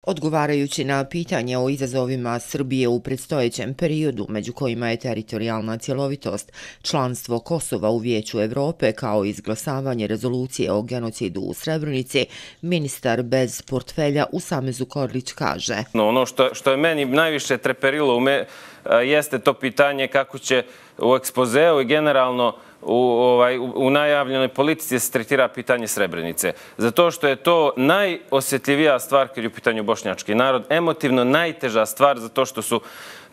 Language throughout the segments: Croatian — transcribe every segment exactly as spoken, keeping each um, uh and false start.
Odgovarajući na pitanje o izazovima Srbije u predstojećem periodu, među kojima je teritorijalna cjelovitost, članstvo Kosova u Vijeću Evrope kao izglasavanje rezolucije o genocidu u Srebrenici, ministar bez portfelja Usame Zukorlić kaže: Ono što, što je meni najviše treperilo u me, jeste to pitanje kako će u ekspozeu i generalno u, ovaj, u najavljenoj politici se tretira pitanje Srebrenice. Zato što je to najosjetljivija stvar kad je u pitanju bošnjački narod, emotivno najteža stvar zato što su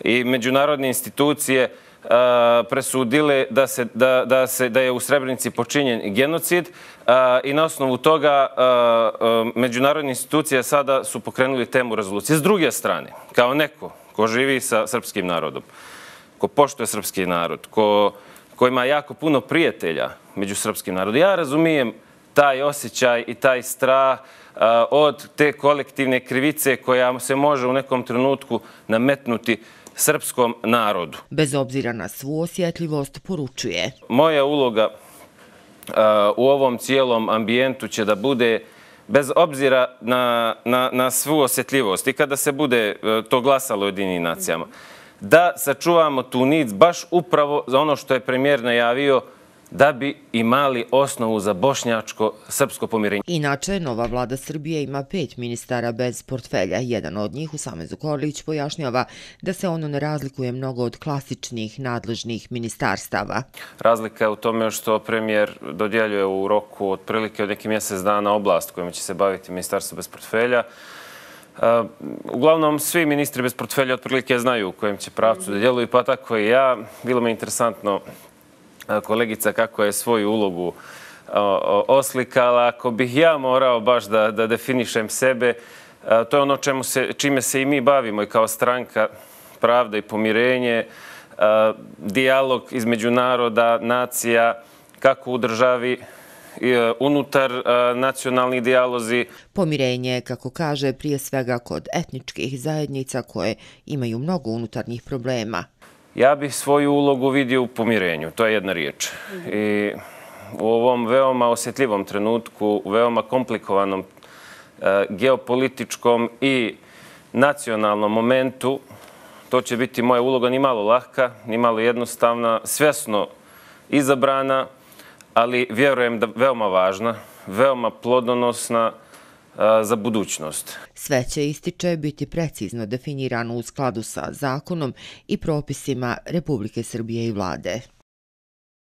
i međunarodne institucije a, presudile da, se, da, da, se, da je u Srebrenici počinjen genocid a, i na osnovu toga a, a, međunarodne institucije sada su pokrenuli temu rezolucije. S druge strane, kao neko ko živi sa srpskim narodom, ko poštuje srpski narod, ko, ko ima jako puno prijatelja među srpskim narodom. Ja razumijem taj osjećaj i taj strah uh, od te kolektivne krivice koja se može u nekom trenutku nametnuti srpskom narodu. Bez obzira na svu osjetljivost, poručuje: moja uloga uh, u ovom cijelom ambijentu će da bude, bez obzira na, na, na svu osjetljivost i kada se bude uh, to glasalo u Ujedinjenim nacijama, da sačuvamo tu nit baš upravo za ono što je premijer najavio, da bi imali osnovu za bošnjačko srpsko pomirenje. Inače, nova vlada Srbije ima pet ministara bez portfelja. Jedan od njih, Usame Zukorlić, pojašnjava da se ono ne razlikuje mnogo od klasičnih nadležnih ministarstava. Razlika je u tome što premijer dodjeljuje u roku otprilike od neki mjesec dana oblast kojima će se baviti ministarstvo bez portfelja. Uh, uglavnom, svi ministri bez portfelja otprilike znaju u kojem će pravcu da djeluju, pa tako i ja. Bilo mi interesantno, uh, kolegica, kako je svoju ulogu uh, oslikala. Ako bih ja morao baš da, da definišem sebe, uh, to je ono čemu se, čime se i mi bavimo i kao stranka Pravda i pomirenje, uh, dijalog između naroda, nacija, kako u državi, unutar nacionalnih dijalozi. Pomirenje, kako kaže, prije svega kod etničkih zajednica koje imaju mnogo unutarnjih problema. Ja bih svoju ulogu vidio u pomirenju, to je jedna riječ. I u ovom veoma osjetljivom trenutku, u veoma komplikovanom geopolitičkom i nacionalnom momentu, to će biti moja uloga ni malo lahka, ni malo jednostavna, svjesno izabrana, ali vjerujem da veoma važna, veoma plodonosna uh, za budućnost. Sve će, ističe, biti precizno definirano u skladu sa zakonom i propisima Republike Srbije i vlade.